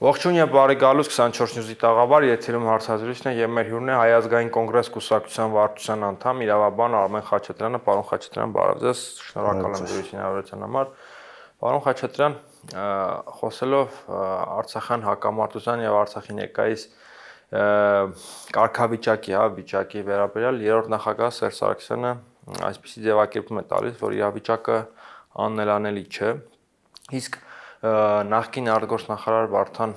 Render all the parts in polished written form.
Ողջույն եւ բարի գալուս 24 News-ի տաղավար, եթերում հարցազրույցն է եւ մեր հյուրն է Հայ ազգային կոնգրես կուսակցության վարչության անդամ, իրավաբան Արմեն Խաչատրյանը։ Պարոն Խաչատրյան, բարև ձեզ, շնորհակալ եմ դրույթին հավերության համար։ Պարոն Խաչատրյան, խոսելով Արցախյան հակամարտության եւ Արցախի ներկայիս կարգավիճակի, վիճակի վերաբերյալ երրորդ նախագահ Սերժ Սարգսյանը այսպիսի ձևակերպում է տալիս, որ իրավիճակը անելանելի չէ։ Իսկ նախկին արտգործնախարար Վարդան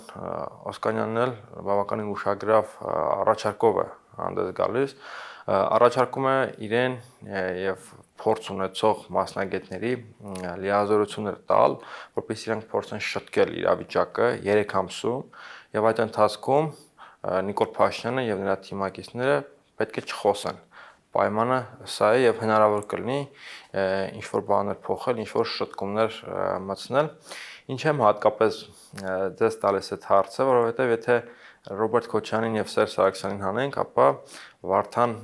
Օսկանյանն էլ բավականին ուշագրավ առաջարկով է հանդես գալիս, առաջարկում է իրեն եւ փորձ ունեցող մասնագետների լիազորություններ տալ, որպեսզի իրենք փորձեն շտկել իրավիճակը 3 ամսում եւ այդ ընթացքում Նիկոլ Փաշինյանը եւ նրա թիմակիցները պետք է չխոսեն։ Պայմանը սա է եւ հնարավոր կլինի ինչ-որ բաներ փոխել, ինչ-որ շտկումներ մտցնել։ Ինչ եմ հատկապես ձեզ տալիս այդ հարցը, որովհետև եթե Ռոբերտ Քոչարյանին եւ Սերժ Սարգսյանին հանենք, ապա Վարդան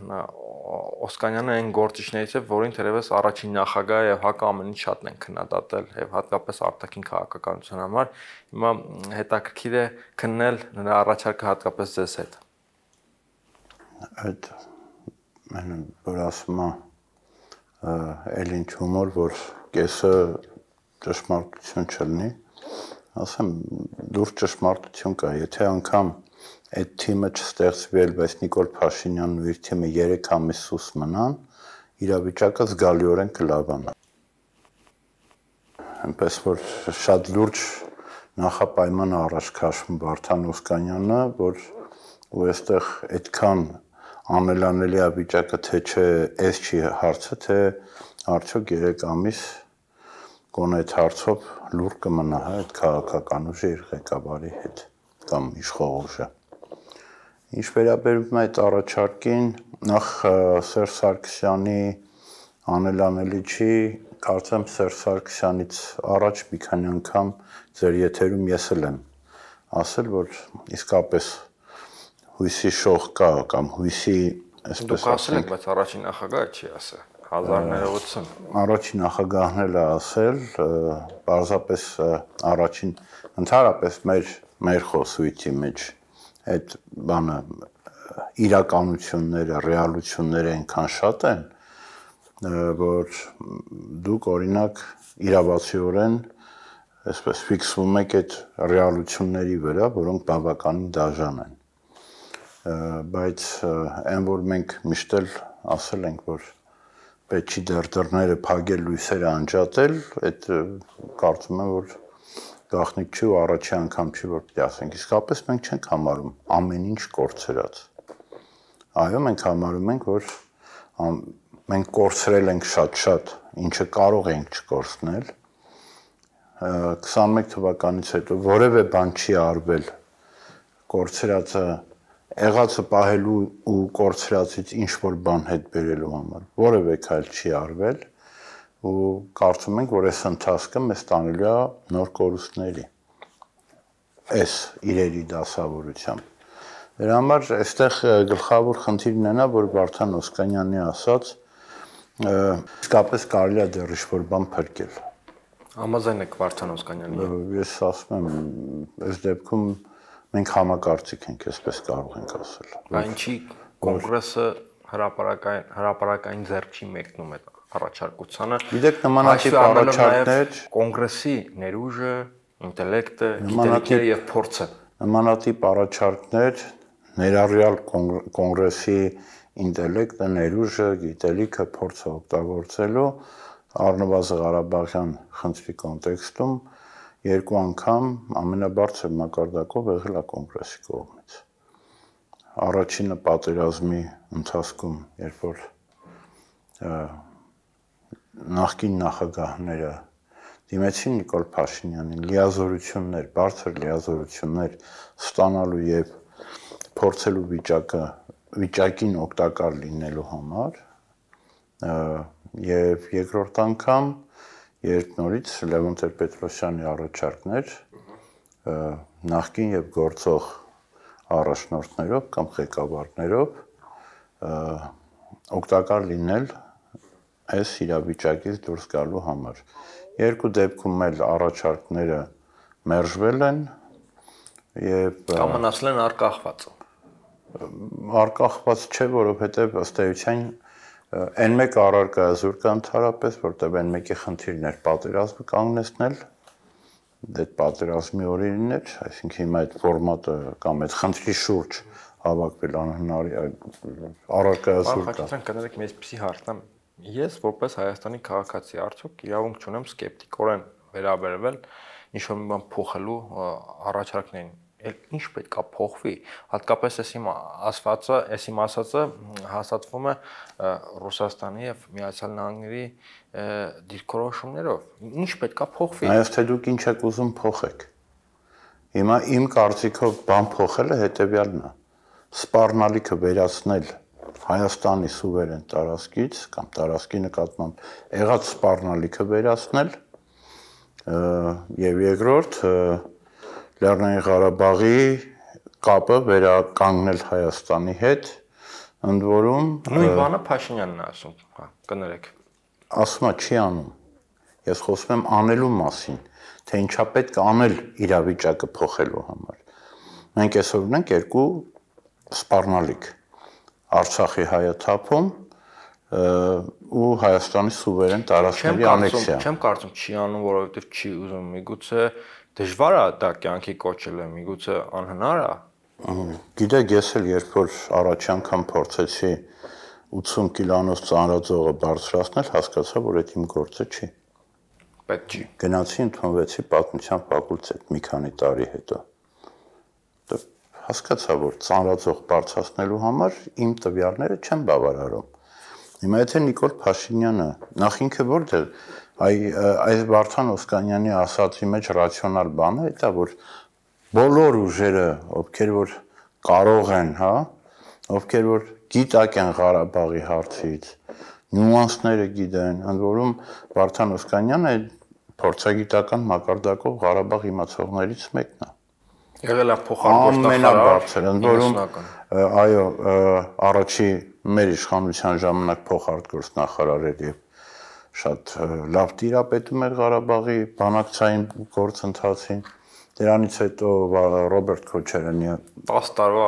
Օսկանյանը այն գործիչներից է, որին թերևս առաջին նախագահը եւ հակը ամենից շատն են քննադատել եւ հատկապես արտաքին քաղաքականության համար։ Հիմա հետաքրքիր է քննել նրա առաջարկը հատկապես ձեզ հետ։ Այդ որ ասում է էլ ինչ հումոր, որ կեսը ճշմարտություն չլինի, ասեմ, դուրս ճշմարտություն կա, եթե անգամ այդ թիմը չստեղծվել, բայց Նիկոլ Փաշինյանն ու իր թիմը 3 ամիս սուս մնան, իրավիճակը զգալիորեն կլավանա։ Այնպես որ շատ լուրջ նախապայման առաջ քաշվում Վարդան Օսկանյանը, որ ու այստեղ այդքան անելանելի է վիճակը, թե չէ, այս չի հարցը, թե արդյոք 3 ամիս գոնե այդ հարցով լուր կմնա, այդ քաղաքական ուժի իր ղեկավարի հետ կամ իշխող ուժը։ Ինչ վերաբերում է այդ առաջարկին, նախ Սերժ Սարգսյանի անելանելի չի, կարծեմ Սերժ Սարգսյանից առաջ մի քանի անգամ ձեր եթերում ես էլ եմ ասել, որ իսկապես հույսի շող կա կամ հույսի, այսպես Դուք ասել եք, բայց առաջին նախագահը չի ասել։ 1980 Առաջին նախագահն էլ է ասել, պարզապես առաջին ընդհանրապես մեր խոսույթի մեջ այդ բանը իրականությունները, ռեալությունները այնքան շատ են, որ դուք օրինակ իրավացիորեն այսպես ֆիքսվում եք այդ ռեալությունների վրա, որոնք բավականին դաժան են։ Բայց այն որ մենք միշտ էլ ասել ենք, որ պետք չի դռները փակել, լույսերը անջատել, այդ կարծում եմ, որ գաղտնիք չի ու առաջի անգամ չի, որ պիտի ասենք, իսկապես մենք չենք համարում ամեն ինչ կորցրած։ Այո, մենք համարում ենք, որ մենք կորցրել ենք շատ, ինչը կարող ենք չկորցնել։ 21 թվականից հետո որևէ բան չի արվել կորցրածը եղածը պահելու ու կորցրածից ինչ-որ բան հետ բերելու համար, որևէ քայլ չի արվել ու կարծում ենք, որ այս ընթացքը մեզ տանելու է նոր կորուստների, այս իրերի դասավորությամբ։ Դրա համար այստեղ գլխավոր խնդիրն է նա, որ Վարդան Օսկանյանի ասած իսկապես կարելի է դեռ ինչ-որ բան փրկել։ Համաձայն եք Վարդան Օսկանյանի։ Ես ասում եմ, այս դեպքում մենք համակարծիք ենք, այսպես կարող ենք ասել։ Ինչի կոնգրեսը հրապարակային ձեռք չի մեկնում այդ առաջարկությանը։ Գիտեք, նմանատիպ առաջարկներ կոնգրեսի ներուժը, ինտելեկտը, գիտելիքները եւ փորձը։ Նմանատիպ առաջարկներ ներառյալ կոնգրեսի ինտելեկտը, ներուժը, գիտելիքը, փորձը օգտագործելու առնվազն Ղարաբաղյան խնդրի կոնտեքստում 2 անգամ ամենաբարձր մակարդակով եղել է կոնգրեսի կողմից։ Առաջինը պատերազմի ընթացքում, երբ որ նախկին նախագահները դիմեցին Նիկոլ Փաշինյանին լիազորություններ, բարձր լիազորություններ ստանալու եւ փորձելու վիճակին օգտակար լինելու համար, եւ երկրորդ անգամ երբ նորից Լևոն Տեր-Պետրոսյանի առաջարկներ նախկին եւ գործող առաջնորդներով կամ ղեկավարներով օգտակար լինել այս իրավիճակից դուրս գալու համար։ Երկու դեպքում էլ առաջարկները մերժվել են, եւ կամ մնացել են արկախված։ Արկախված չէ, որովհետեւ ըստ էության այն մեկ առարկա զուր կա ընդհանրապես, որտեղ այն մեկի խնդիրն էր պատերազմը կանգնեցնել, դա պատերազմի օրերին էր, այսինքն հիմա այդ ֆորմատը կամ այդ խնդրի շուրջ հավաքվել անհնար առարկա զուր կա։ Խաչատրյան կներեք մի այսպիսի հարցնամ, ես որպես Հայաստանի քաղաքացի արդյոք իրավունք չունեմ սկեպտիկորեն վերաբերվել ինչ-որ մի բան փոխելու առաջարկներին։ Ինչ պետք է փոխվի, հատկապես այս իմ ասվածը, այս իմ ասածը հաստատվում է Ռուսաստանի եւ Միացյալ Նահանգների դիրքորոշումներով։ Ինչ պետք է փոխվի։ Այո, թե դուք ինչ եք ուզում փոխեք։ Հիմա իմ կարծիքով բան փոխելը հետեւյալն է. սպառնալիքը վերացնել Հայաստանի սուվերեն տարածքից կամ տարածքի նկատմամբ եղած սպառնալիքը վերացնել եւ երկրորդ Լեռնային Ղարաբաղի կապը վերականգնել Հայաստանի հետ, ընդ որում նույն բանը Փաշինյանն է ասում, հա, կներեք։ Ասում է չի անում։ Ես խոսում եմ անելու մասին, թե ինչա պետք է անել իրավիճակը փոխելու համար։ Մենք այսօր ունենք երկու սպառնալիք. Արցախի հայաթափում ու Հայաստանի սուվերեն տարածքների անեքսիա։ Չեմ կարծում չի անում, որովհետև չի ուզում, միգուցե դժվար է դա կյանքի կոչելը, միգուցե անհնար է։ Գիտեք, ես էլ երբ որ առաջ անգամ փորձեցի 80 կիլոնոց ծանրաձողը բարձրացնել, հասկացա, որ այդ իմ գործը չի։ Պետք չի։ Գնացի ընդունվեցի պատմության ֆակուլտետ մի քանի տարի հետո։ Հասկացա, որ ծանրաձող բարձրացնելու համար իմ տվյալները չեն բավարարում։ Հիմա եթե Նիկոլ Փաշինյանը նախ ինքը որտեղ այս Վարդան Օսկանյանի ասացի մեջ ռացիոնալ բանը է, դա որ բոլոր ուժերը, ովքեր որ կարող են, հա, ովքեր որ գիտակ են Ղարաբաղի հարցից, նյուանսները գիտեն, ընդ որում Վարդան Օսկանյանը փորձագիտական մակարդակով Ղարաբաղ իմացողներից մեկն է։ Եղել է փոխարտգործնախարար, ընդ որում այո, առաջի մեր իշխանության ժամանակ փոխարտգործնախարար էր եւ շատ լավ տիրապետում էր Ղարաբաղի բանակցային գործընթացին։ Դրանից հետո Ռոբերտ Քոչարյանը 10 տարվա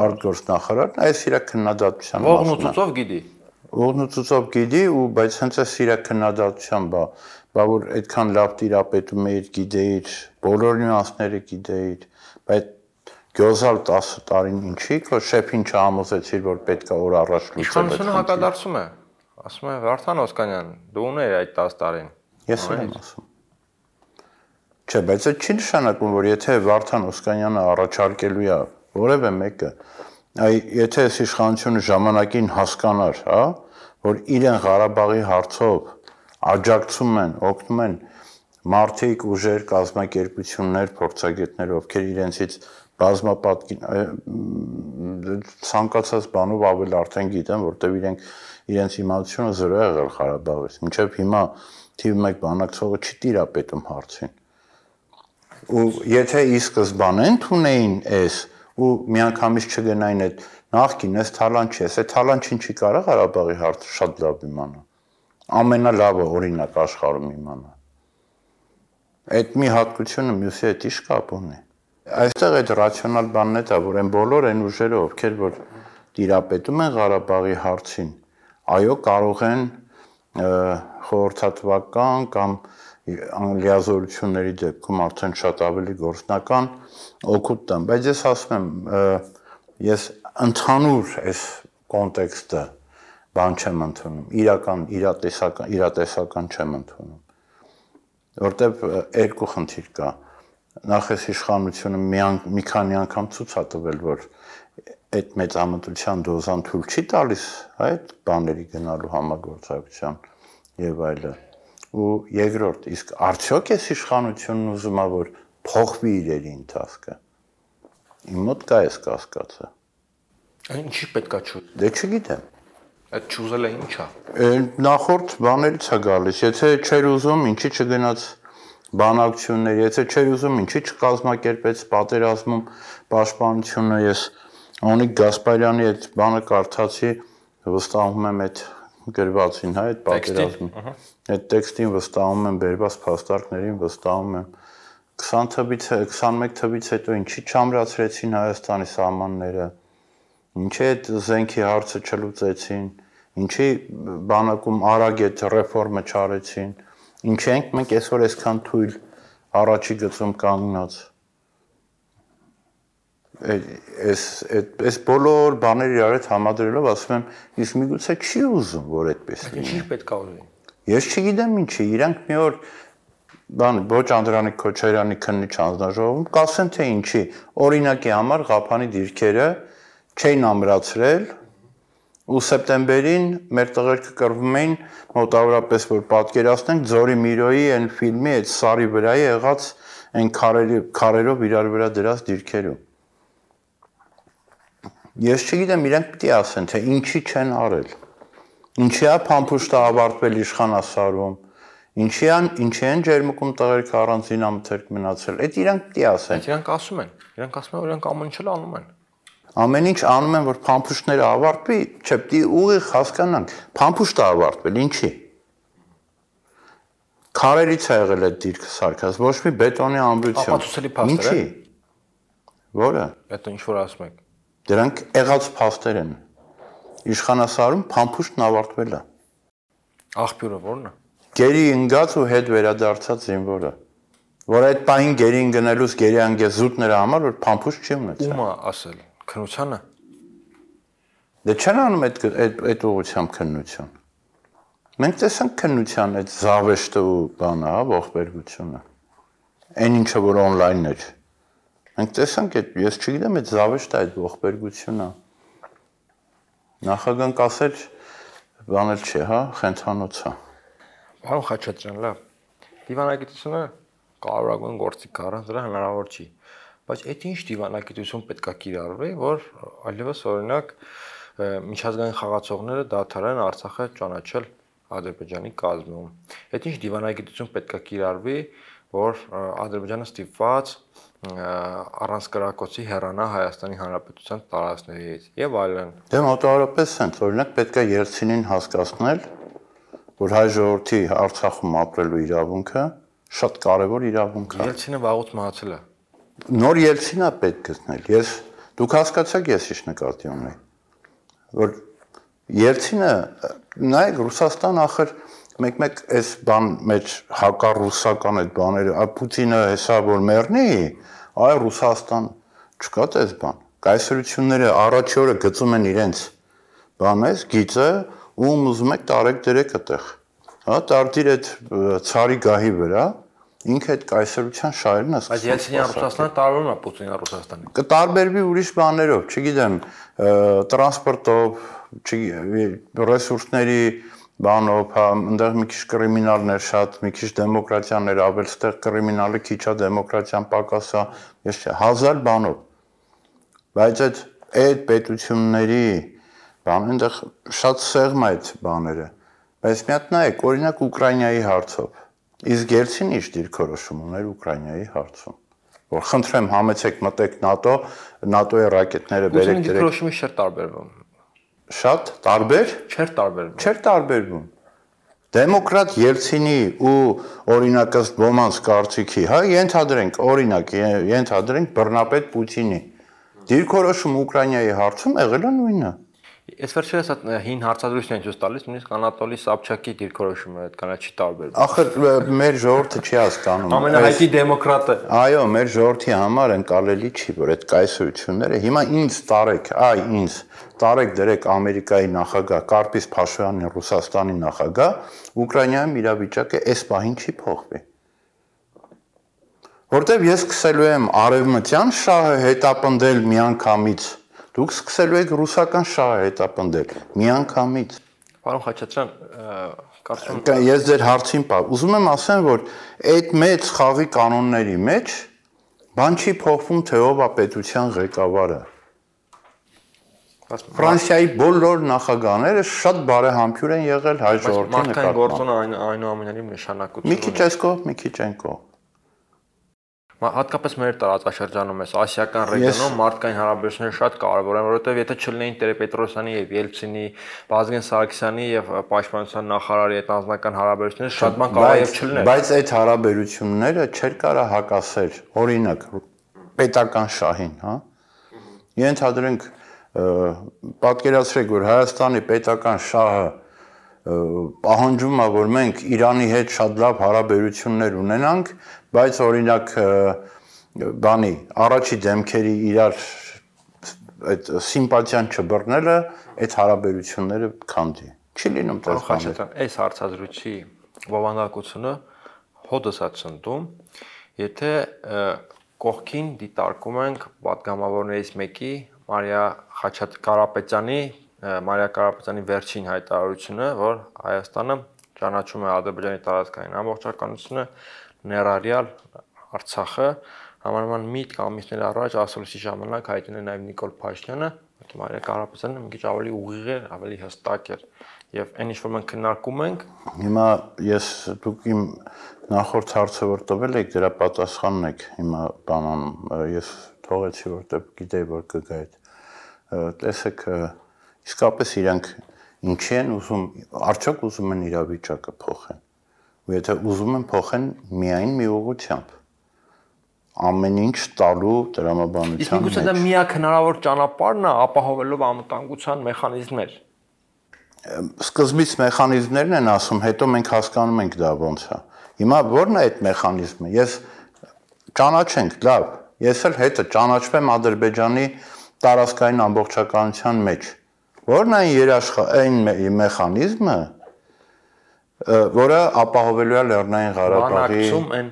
արտգործնախարար, այս իր քննադատության մասն է։ Ողնուծով գիտի։ Ողնուծով գիտի ու բայց հենց այս իր քննադատության բա որ այդքան լավ տիրապետում էիր, գիտեիր, բոլոր նյուանսները գիտեիր, բայց գյոզալ 10 տարին ինչի, քո շեփին չհամոզեցիր, որ պետք է օր առաջ լուծել։ Իշխանությունը հակադարձում է։ Ասում է Վարդան Օսկանյան, դու ուներ այդ 10 տարին։ Ես եմ ասում։ Չէ, բայց այդ չի նշանակում, որ եթե Վարդան Օսկանյանը առաջարկելու է որևէ մեկը, եթե այս իշխանությունը ժամանակին հասկանար, հա, որ իրեն Ղարաբաղի հարցով աջակցում են, օգնում են մարդիկ, ուժեր, կազմակերպություններ, փորձագետներ, ովքեր իրենցից բազմապատկին ցանկացած բանով ավել արդեն գիտեն, որտեղ իրենց իմացությունը զրո է եղել Ղարաբաղից։ Մինչև հիմա թիվ 1 բանակցողը չի տիրապետում հարցին։ Ու եթե ի սկզբանե ընդունեին այս ու միանգամից չգնային այդ նախքին այս թալանչի, այս թալանչին չի կարող Ղարաբաղի հարցը շատ լավ իմանա։ Ամենալավը օրինակ աշխարհում իմանա։ Այդ մի հատկությունը մյուսի հետ ի՞նչ կապ ունի։ Այստեղ այդ ռացիոնալ բանն է դա, որ այն բոլոր այն ուժերը, ովքեր որ տիրապետում են Ղարաբաղի հարցին, այո, կարող են խորհրդատվական կամ լիազորությունների դեպքում արդեն շատ ավելի գործնական օգուտ տան, բայց ես ասում եմ, ես ընդհանուր այս կոնտեքստը բան չեմ ընդունում, իրական իրատեսական չեմ ընդունում, որտեվ երկու խնդիր կա, նախ այս իշխանությունը մի քանի անգամ ցույց է տվել, որ այդ մեծամտության դոզան թույլ չի տալիս այդ բաների գնալու համագործակցության եւ այլը։ Ու երկրորդ, իսկ արդյոք այս իշխանությունն ուզում է որ փոխվի իրերի ընթացքը։ Իմ մոտ կա այս կասկածը։ Ինչի պետքա չու։ Դե չգիտեմ։ Այդ չուզելը ի՞նչ է։ Նախորդ բաներից է գալիս, եթե չէր ուզում, ինչի չգնաց բանակցություններ, եթե չէր ուզում, ինչի չկազմակերպեց պատերազմում պաշտպանությունը, ես Անիկ Գասպարյանի այդ բանը կարդացի, վստահում եմ այդ գրվածին, հա, այդ պատերազմին։ Այդ տեքստին վստահում եմ, բերված փաստարկներին վստահում եմ, 20 թվից 21 թվից հետո ինչի չամրացրեցին Հայաստանի սահմանները, ինչի այդ զենքի հարցը չլուծեցին, ինչի բանակում արագ այդ ռեֆորմը չարեցին, ինչի ենք մենք այսօր այսքան թույլ առաջի գծում կանգնած։ Այս բոլոր բաները իրար հետ համադրելով ասում եմ, իսկ միգուցե չի ուզում, որ այդպես լինի։ Ինչ պետք է ուզի։ Ես չգիտեմ ինչի, իրանք մի օր ոչ Անդրանիկ Քոչարյանի քննիչ հանձնաժողովում կասեն թե ինչի, օրինակի համար Ղափանի դիրքերը չէին ամրացրել ու սեպտեմբերին մեր տղերքը կռվում էին մոտավորապես որ պատկերացնենք Ձորի Միրոյի այն ֆիլմի այդ սարի վրա եղած այն քարերով իրար վրա դրած դիրքերում։ Ես չգիտեմ իրանք պիտի ասեն թե ինչի չեն արել։ Ինչի է փամփուշտը ավարտվել իշխանասարում, ինչի են ջերմուկում տղերքը առանց զինամթերք մնացել։ Այդ իրանք պիտի ասեն։ Իրանք ասում են, որ իրանք ամեն ինչ անում են։ Ամեն ինչ անում են, որ փամփուշտները ավարտվի, չէ, պիտի ուղիղ հասկանանք, փամփուշտը ավարտվել, ինչի։ Քարերից է եղել այդ դիրքը սարքած, ոչ մի բետոնի ամրություն։ Ապացուցելի փաստեր է։ Որը։ Այդ ինչ որ ասում եք։ Դրանք եղած փաստեր են։ Իշխանասարում փամփուշտն ավարտվել է։ Աղբյուրը ո՞րն է։ Գերի ընկած ու հետ վերադարձած զինվորը, որ այդ պահին գերին գնելուց գերի անգես զուտ նրա համար, որ փամփուշտ չի ունեցել։ Ում է ասել։ Քննությանը։ Դե չեն անում այդ ուղղությամբ քննություն։ Մենք տեսանք քննության այդ զավեշտը ու բանը, հա, ողբերգությունը։ Այն ինչը որ on-line էր։ Մենք տեսանք այդ, ես չգիտեմ այդ զավեշտը այդ ողբերգությունը։ Նախագահն կասել բանել չի, հա, խենթանոցը։ Պարոն Խաչատրյան, լավ։ Դիվանագիտությունը կարևորագույն գործիք է, առանց դրա հնարավոր չի։ Բայց այդ ինչ դիվանագիտություն պետքա կիրառվի, որ այլևս օրինակ միջազգային խաղացողները դադարեն Արցախը ճանաչել Ադրբեջանի կազմում։ Այդ ինչ դիվանագիտություն պետքա կիրառվի, որ Ադրբեջանը ստիպված առանց կրակոցի հեռանա Հայաստանի Հանրապետության տարածքներից եւ այլն։ Դե մոտավորապես sense, օրինակ պետքա Ելցինին հասկացնել, որ հայ ժողովրդի Արցախում ապրելու իրավունքը շատ կարևոր իրավունք է։ Ելցինը վաղուց մահացել է։ Նոր Ելցինա պետք գտնել։ Դուք հասկացաք ես ինչ նկատի ունեի, որ Ելցինը նայեք Ռուսաստան ախր մեկ այս բան մեջ հակառուսական այդ բաները, Պուտինը հեսա որ մեռնի, այ Ռուսաստան չկա այս բան։ Կայսրությունները առաջի օրը գծում են իրենց բանես, գիծը ու ուզում եք տարեք դրեք այդտեղ։ Հա, տարտիր այդ ցարի գահի վրա ինքը այդ կայսրության շահերն է սկսում։ Բայց Ելցինի Ռուսաստանը տարբերվում է Պուտինի Ռուսաստանից։ Կտարբերվի ուրիշ բաներով, չգիտեմ, տրանսպորտով, ռեսուրսների բանով, հա, այնտեղ մի քիչ կրիմինալներ շատ, մի քիչ դեմոկրատիաներ ավել, ստեղ կրիմինալը քիչ է, դեմոկրատիան պակաս է, ես չէ, հազար բանով։ Բայց այդ պետությունների բան, այնտեղ շատ սեղմ է այդ բաները։ Բայց մի հատ նայեք, օրինակ Ուկրաինայի հարցով։ Իսկ Ելցինը ինչ դիրքորոշում ուներ Ուկրաինայի հարցում։ Որ խնդրեմ համեցեք մտեք ՆԱՏՕ-ի ռակետները բերեք դրեք։ Դիրքորոշումը չէր տարբերվում։ Շատ տարբեր Չէր տարբերվում։ Չէր տարբերվում։ Դեմոկրատ Ելցինի ու օրինակ ըստ ոմանց կարծիքի, հա, ենթադրենք, օրինակ, ենթադրենք բռնապետ Պուտինի դիրքորոշում Ուկրաինայի հարցում եղել է նույնը։ Ես վերջերս այդ հին հարցադրույթն եմ ցույց տալիս, նույնիսկ Անատոլի Սաբչակի դիրքորոշումը այդքան չի տարբերվում։ Ախր մեր ժողովուրդը չի հասկանում։ Ամենահայտնի դեմոկրատը։ Այո, մեր ժողովրդի համար ընկալելի չի, որ այդ կայսրությունները հիմա ինձ տարեք, ինձ տարեք դրեք Ամերիկայի նախագահ Կարպիս Փաշինյանի Ռուսաստանի նախագահ, Ուկրաինայում իրավիճակը այս պահին չի փոխվի։ Որտեւ ես սկսելու եմ արևմտյան շահը հետապնդել միանգամից, դուք սկսելու եք ռուսական շահը հետապնդել միանգամից։ Պարոն Խաչատրյան, կարծում եմ ես ձեր հարցին ուզում եմ ասեմ, որ այդ մեծ խաղի կանոնների մեջ բան չի փոխվում, թե ով է պետության ղեկավարը։ Ֆրանսիայի բոլոր նախագահները շատ բարեհամբույր են եղել հայ ժողովրդի նկատմամբ։ Մարդկային գործոնը այնուամենայնիվ նշանակություն ունի։ Մի քիչ այս կողմ, մի քիչ այն կողմ։ Հատկապես մեր տարածաշրջանում էս ասիական ռեգիոնում մարդկային հարաբերությունները շատ կարևոր են, որովհետև եթե չլինեին Տեր-Պետրոսյանի եւ Ելցինի, Վազգեն Սարգսյանի եւ Պաշտպանության նախարարի այդ անձնական հարաբերությունները շատ բան կարող է եւ չլիներ։ Բայց այդ հարաբերությունները չէր կարող հակասել, օրինակ, պետական շահին, հա։ Ենթադրենք, պատկերացրեք, որ Հայաստանի պետական շահը պահանջում է, որ մենք Իրանի հետ շատ լավ հարաբերություններ ունենանք, բայց օրինակ բանի առաջի դեմքերի իրար այդ սիմպաթիան չբռնելը այդ հարաբերությունները քանդի։ Չի լինում դեպքում։ Այս հարցազրույցի բովանդակությունը հոդս է ցնդում, եթե կողքին դիտարկում ենք պատգամավորներից մեկի Մարիա Կարապետյանի վերջին հայտարարությունը, որ Հայաստանը ճանաչում է Ադրբեջանի տարածքային ամբողջականությունը, ներառյալ Արցախը, համարման միտք ամիսներ առաջ ասուլիսի ժամանակ հայտնել նաև Նիկոլ Փաշինյանը, Մարիա Կարապետյանը մի քիչ ավելի ուղիղ էր, ավելի հստակ էր, եւ այն ինչ որ մենք քննարկում ենք, հիմա դուք իմ նախորդ հարցը որ տվել եք, դրա պատասխանն եք հիմա բանանում, ես թողեցի որտեղ գիտեի որ կգա այդ տեսեք իսկապես իրանք ինչի են ուզում, արդյոք ուզում են իրավիճակը փոխեն։ Ու եթե ուզում են փոխեն միայն մի ուղղությամբ։ Ամեն ինչ տալու տրամաբանության մեջ։ Իսկ միգուցե դա միակ հնարավոր ճանապարհն է ապահովելով անվտանգության մեխանիզմներ։ Սկզբից մեխանիզմներն են ասում, հետո մենք հասկանում ենք դա ոնց է։ Հիմա ո՞րն է այդ մեխանիզմը։ Ես ճանաչենք, լավ, ես էլ հետը ճանաչվեմ Ադրբեջանի տարածքային ամբողջականության մեջ։ Ո՞րն է այն մեխանիզմը, որը ապահովելու է Լեռնային Ղարաբաղի բանակցում են։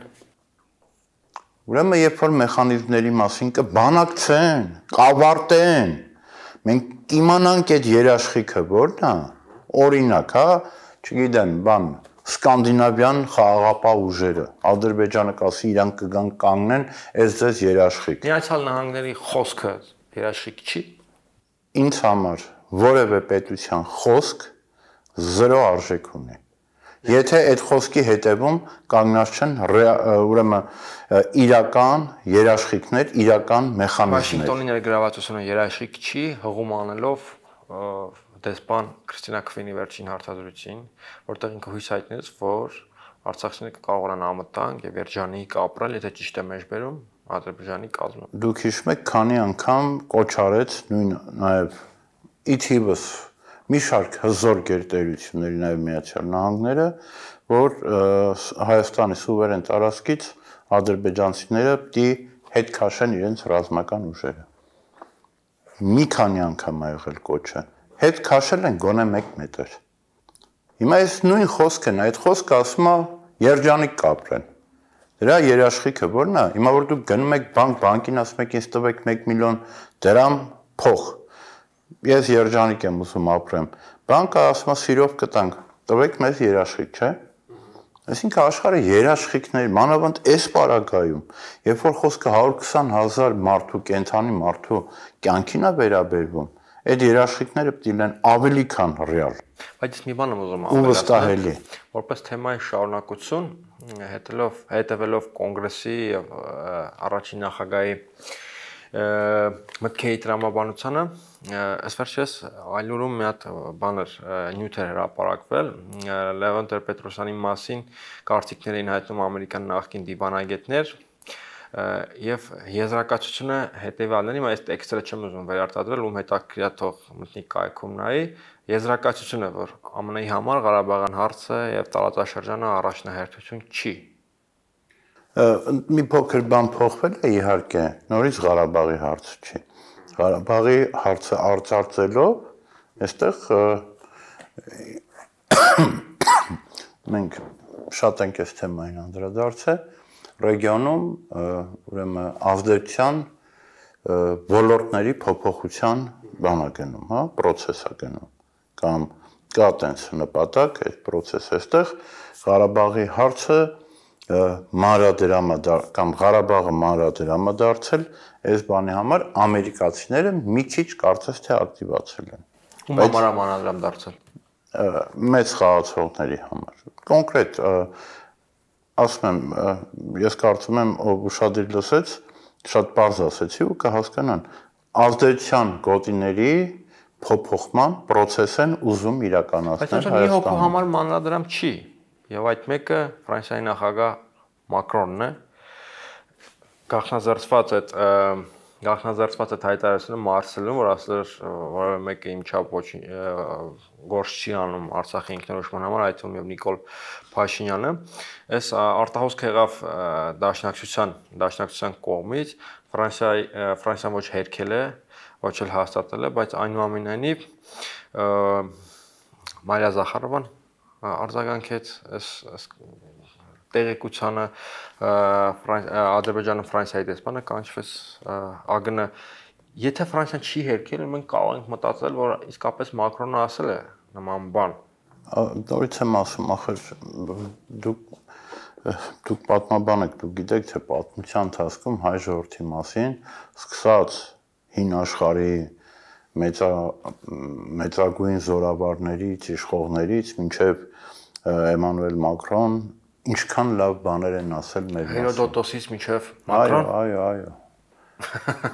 Ուրեմն երբ որ մեխանիզմների մասին կբանակցեն, կավարտեն, մենք կիմանանք այդ երաշխիքը ո՞րն է, օրինակ, հա, չգիտեմ, բան, սկանդինավյան խաղաղապահ ուժերը, Ադրբեջանը կասի իրանք կգան կանգնեն, այս ձեզ երաշխիք։ Միացյալ Նահանգների խոսքը երաշխիք չի։ Ինձ համար որևէ պետության խոսք 0 արժեք ունի։ Եթե այդ խոսքի հետևում կանգնած չեն ուրեմն իրական երաշխիքներ, իրական մեխանիզմներ։ Վաշինգտոնի ներգրավվածությունը երաշխիք չի, հղում անելով դեսպան Քրիստինա Քվինի վերջին հարցազրույցին, որտեղ ինքը հույս հայտնեց, որ արցախցիները կարողանան անվտանգ եւ երջանիկ ապրել, եթե ճիշտ է մեջբերում Ադրբեջանի կազմում։ Դուք հիշում եք, քանի անգամ կոչ արեց նույն նաեւ իթիվս մի շարք հզոր գերտերությունների նաև Միացյալ Նահանգները, որ Հայաստանի սուվերեն տարածքից ադրբեջանցիները պիտի հետ քաշեն իրենց ռազմական ուժերը։ Մի քանի անգամ ա եղել կոչը։ Հետ քաշել են գոնե 1 մետր։ Հիմա այս նույն խոսքն է, այդ խոսքը ասում է երջանիկ կապրեն։ Դրա երաշխիքը ո՞րն է։ Հիմա որ դուք գնում եք բանկին ասում եք ինձ տվեք 1 միլիոն դրամ փող։ Ես երջանիկ եմ ուզում ապրեմ։ Բանկը ասում է սիրով կտանք, տվեք մեզ երաշխիք, չէ՞։ Այսինքն աշխարհը երաշխիքներ, մանավանդ այս պարագայում, երբ որ խոսքը 120,000 մարդու, կենթանի մարդու կյանքին է վերաբերվում, այդ երաշխիքները պետք է լինեն ավելի քան ռեալ։ Բայց մի բան եմ ուզում ավելացնել, որպես թեմայի շարունակություն, հետևելով կոնգրեսի եւ առաջին նախագահի մտքերի տրամաբանությանը, ասվերջես այլուրում մի հատ բաներ նյութ էր հրապարակվել Լևոն Տեր-Պետրոսյանի մասին կարծիքներ էին հայտնում ամերիկյան նախկին դիվանագետներ եւ եզրակացությունը հետեւյալն է, այս տեքստը չեմ ուզում վերարտադրել, ում հետաքրքրյա թող մտնի կայքում նայի, եզրակացությունը, որ ԱՄՆ-ի համար Ղարաբաղյան հարցը եւ տարածաշրջանը առաջնահերթություն չի։ Մի փոքր բան փոխվել է իհարկե, նորից Ղարաբաղի հարցը չի։ Ղարաբաղի հարցը արծարծելով, այստեղ մենք շատ ենք այս թեմային անդրադարձել, ռեգիոնում ուրեմն ազդեցության ոլորտների փոփոխության բան է գնում, հա, process է գնում, կամ կա տենց նպատակ այդ process-ը այստեղ Ղարաբաղի հարցը կամ Ղարաբաղը մանրադրամադարձել այս բանի համար ամերիկացիները մի քիչ կարծես թե ակտիվացել են։ Ում համար մանրադրամադարձել։ Մեծ խաղացողների համար։ Կոնկրետ ասում եմ, ես կարծում եմ, ով ուշադիր լսեց, շատ բարձ ասեցի ու կհասկանան, ազդեցության գոտիների փոփոխման process են ուզում իրականացնել Հայաստանում։ Բայց մի հոգու համար մանրադրամ չի, եւ այդ մեկը Ֆրանսիայի նախագահ Մակրոնն է, գաղտնազերծված այդ հայտարարությունը Մարսելում, որ ասել որևէ մեկը իմ չափ ոչինչ գործ չի անում Արցախի ինքնորոշման համար, այդ թվում եւ Նիկոլ Փաշինյանը, այս արտահոսք եղավ դաշնակցության կողմից, Ֆրանսիան ոչ հերքել է, ոչ էլ հաստատել է, բայց այնուամենայնիվ Մարիա Զախարովան արձագանքեց այս տեղեկությանը Ադրբեջանը Ֆրանսիայի դեսպանը կանչվեց ԱԳՆ եթե Ֆրանսիան չի հերքել մենք կարող ենք մտածել որ իսկապես Մակրոնը ասել է նման բան նորից եմ ասում ախր դուք պատմաբան եք դուք գիտեք թե պատմության ընթացքում հայ ժողովրդի մասին սկսած հին աշխարհի մեծագույն զորավարներից իշխողներից մինչև Էմանուել Մակրոն ինչքան լավ բաներ են ասել մեր մասին։ Հերոդոտոսից մինչև Մակրոն։ Այո։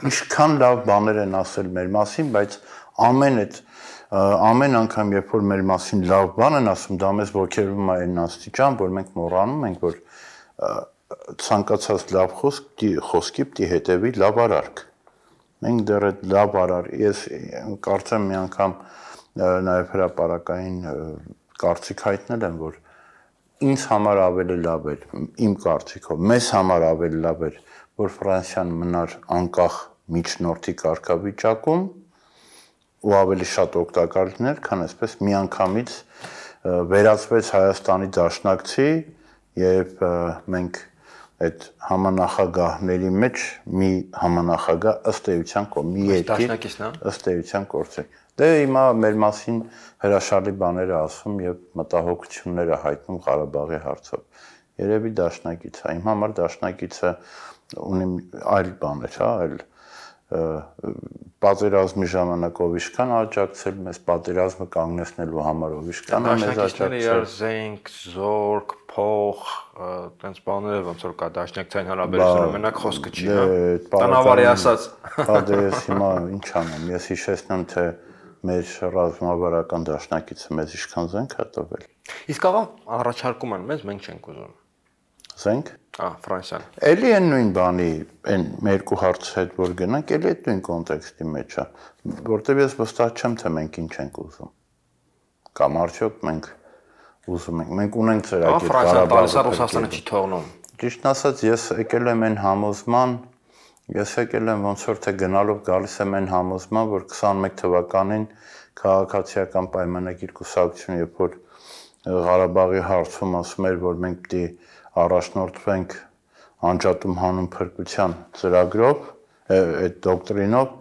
Ինչքան լավ բաներ են ասել մեր մասին, բայց ամեն անգամ երբ որ մեր մասին լավ բան են ասում, դա մեզ ոգևորում է այն աստիճան, որ մենք մոռանում ենք, որ ցանկացած լավ խոսքի պիտի հետևի լավ արարք։ Մենք դեռ այդ լավ արար, ես կարծեմ մի անգամ նաև հրապարակային կարծիք հայտնել եմ, որ ինձ համար ավելի լավ էր, իմ կարծիքով, մեզ համար ավելի լավ էր, որ Ֆրանսիան մնար անկախ միջնորդի կարգավիճակում ու ավելի շատ օգտակար լիներ, քան այսպես միանգամից վերածվեց Հայաստանի դաշնակցի եւ մենք այդ համանախագահների մեջ մի համանախագահ ըստ էության կողմի երկիր ըստ էության կորցրի։ Դե հիմա մեր մասին հրաշալի բաներ է ասում եւ մտահոգություններ է հայտնում Ղարաբաղի հարցով։ Երևի դաշնակից է։ Իմ համար դաշնակիցը ունի այլ բաներ, հա, այլ պատերազմի ժամանակ ով իշքան աջակցել մեզ պատերազմը կանգնեցնելու համար ով իշքան է մեզ աջակցել զենք, զորք, փող, տենց բաները ոնց որ կա դաշնակցային հարաբերությունները մենակ խոսքը չի, հա։ Տնավարի ասած։ Հա դե ես հիմա ինչ անեմ, ես հիշեցնեմ թե մեր ռազմավարական դաշնակիցը մեզ իշքան զենք է տվել։ Իսկ աղա առաջարկում են մեզ, մենք չենք ուզում։ Զենք։ Ֆրանսիան։ Էլի այն նույն բանի, այն երկու հարցի հետ որ գնանք, էլի այդ նույն կոնտեքստի մեջ է, որտեղ ես վստահ չեմ թե մենք ինչ ենք ուզում։ Կամ արդյոք մենք ուզում ենք։ Մենք ունենք ծրագիր Ղարաբաղը, Ռուսաստանը չի թողնում։ Ճիշտն ասած, ես եկել եմ այն համոզման, ես եկել եմ ոնց որ թե գնալով գալիս եմ այն համոզման, որ 21 թվականին քաղաքացիական պայմանագիր կուսակցությունը, երբ որ Ղարաբաղի հարցում ասում էր, որ մենք պիտի առաջնորդվենք անջատում հանուն փրկության ծրագրով, այդ դոկտրինով,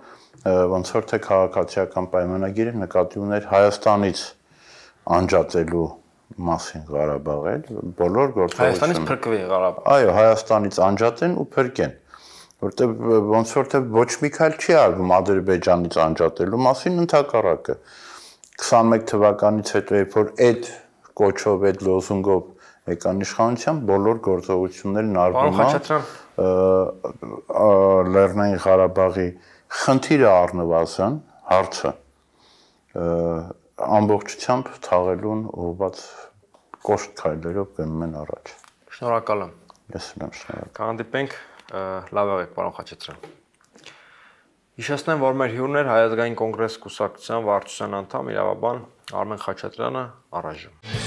ոնց որ թե քաղաքացիական պայմանագիրը նկատի ուներ Հայաստանից անջատելու մասին Ղարաբաղը, բոլոր գործողությունները։ Հայաստանից փրկվի Ղարաբաղը։ Այո, Հայաստանից անջատեն ու փրկեն, որտեղ ոնց որ թե ոչ մի քայլ չի արվում Ադրբեջանից անջատելու մասին, ընդհակառակը 21 թվականից հետո երբ որ այդ կոչով, այդ լոզունգով եկան իշխանության բոլոր գործողություններն արվում Լեռնային Ղարաբաղի խնդիրը առնվազն հարցը ամբողջությամբ թաղելուն ուղղված կոշտ քայլերով գնում են առաջ։ Շնորհակալ եմ։ Ես եմ շնորհակալ։ Կհանդիպենք, լավ եղեք, պարոն Խաչատրյան։ Հիշեցնեմ, որ մեր հյուրն էր Հայ ազգային կոնգրես կուսակցության վարչության անդամ, իրավաբան Արմեն Խաչատրյանը, առայժմ։